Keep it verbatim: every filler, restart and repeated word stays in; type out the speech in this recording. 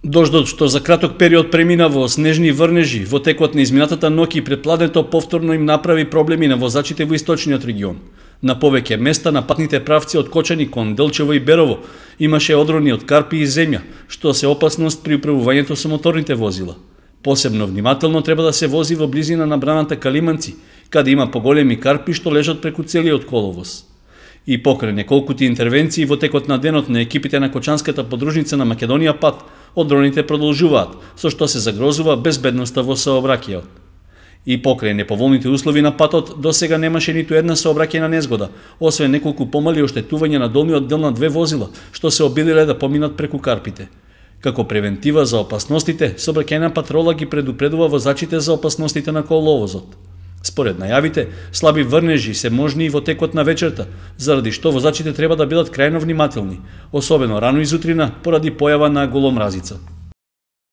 Дождот што за краток период премина во снежни врнежи во текот на изминатата ноќ и претпладнето повторно им направи проблеми на возачите во источниот регион. На повеќе места на патните правци од Кочани кон Делчево и Берово имаше одрони од карпи и земја, што се опасност при управувањето со моторните возила. Посебно внимателно треба да се вози во близина на браната Калиманци, каде има поголеми карпи што лежат преку целиот коловоз. И покрај неколкути интервенции во текот на денот на екипите на Кочанската подружница на Македонија пат, одроните продолжуваат, со што се загрозува безбедноста во сообраќајот. И покрај неповолните услови на патот, досега немаше ниту една сообраќајна незгода, освен неколку помали оштетувања на долниот дел на две возила, што се обиделе да поминат преку карпите. Како превентива за опасностите, сообраќајна патрола ги предупредува возачите за опасностите на коловозот. Според најавите, слаби врнежи се можни и во текот на вечерта, заради што возачите треба да бидат крајно внимателни, особено рано изутрина поради појава на голомразица.